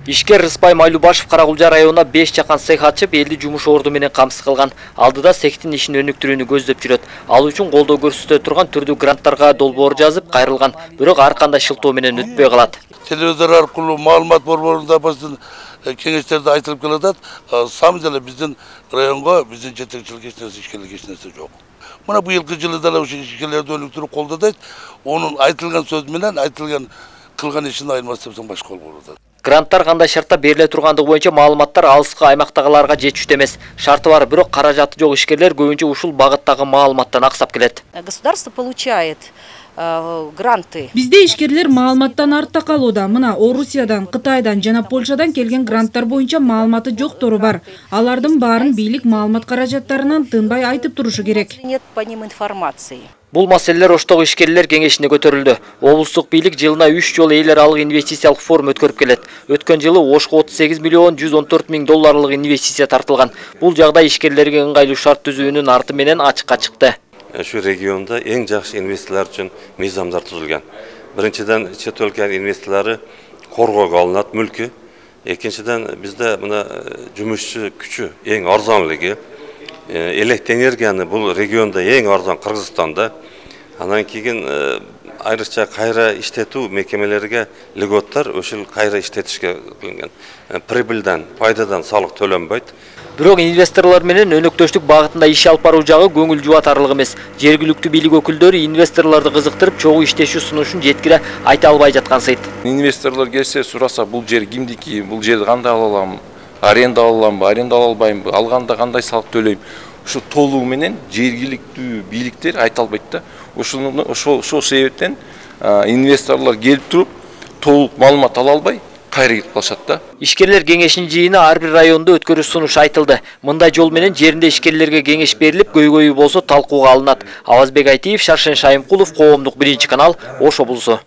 Ишкер Рыспай Майлубашев Каракулжа районуна 5 жакан цех ачып, элди жумуш орду менен камсыз кылган. Алдыда цехтин ишин өнүктүрүүнү көздөп жүрөт. Ал үчүн колдоо көрсөтө турган түрдүү гранттарга долбоор жазып кайрылган, бирок ар кандай шылтоо менен өтпөй калат. Телевизор аркылуу маалымат борборунда биздин кеңештерде айтылып келатат. Самый деле биздин районго, биздин жетекчилик эч нерсе, ишкерлик эч нерсе жок. Мына быйылкы жылы да ушул ишкерлерди өнүктүрүү колдодойт. Онун айтылган сөз менен айтылган кылган ишин айырмасы депсең башка болуп атат. Гранттар кандай шартта бериле тургандыгы боюнча маалыматтар алыскы аймактагыларга жетиштүү эмес. Шарты бар, бирок каражаты жок ишкерлер көбүнчө ушул багыттагы маалыматтан аксап келет. Государство получает гранты. Бизде ишкерлер маалыматтан артта калууда. Мына Орусиядан, Кытайдан жана Польшадан келген гранттар боюнча маалыматы жоктору бар. Алардын баарын бийлик маалымат каражаттарынан тынбай айтып турушу керек. Нет по ним информации. Бул маселелер Оштогу ишкерлер кеңешине көтөрүлдү. Облустук бийлик жылына 3 жолу эл аралык инвестициялык форум өткөрүп келет. Өткөн жылы Ошко 38 миллион 114 миң долларлык инвестиция тартылган. Бул жагдай ишкерлерге ыңгайлуу шарт түзүүнүн арты менен ачыкка чыкты. Şu rегионда эң жакшы инвесторлор үчүн мыйзамдар түзүлгөн. Биринчиден, чет өлкөнүн инвесторлору коргоого алынат мүлкү. Экинчиден, бизде мына жумушчу күчү эң арзанлыгы. Электр энергияны бул регионда эң арзан Кыргызстанда. Анан кийин айрыкча кайра иштетүү мекемелерге льготтар ошол кайра иштетишке кылынган. Прибыльдан, пайдадан салык төлөнбөйт. Бирок инвесторлор менен өнөктөштүк багытында иш алып баруу жагы көңүл жубатарлык эмес. Жергиликтүү бийлик өкүлдөрү инвесторлорду кызыктырып, чогуу иштешүү сунушун жеткире айта албай жаткансыйт. Инвесторлор келсе, сураса, бул жер кимдики, бул жерди кандай ала алам, аренда ала аламбы, аренда ала албаймбы, алганда кандай салык төлөйм. Ушу толугу менен жергиликтүү бийликтер айта албайт да. Ошол себептен инвесторлор келип туруп, толук маалымат ала албай кайра кетип калышат да. Ишкерлер кеңешинин жыйыны ар бир райондо өткөрүү сунуш айтылды. Мындай жол менен жеринде ишкерлерге кеңеш берилип, көйгөйү болсо талкууга алынат. Авазбек Айтиев, Шаршен Шайымкулов, Коомдук 1 канал, Ош облусу.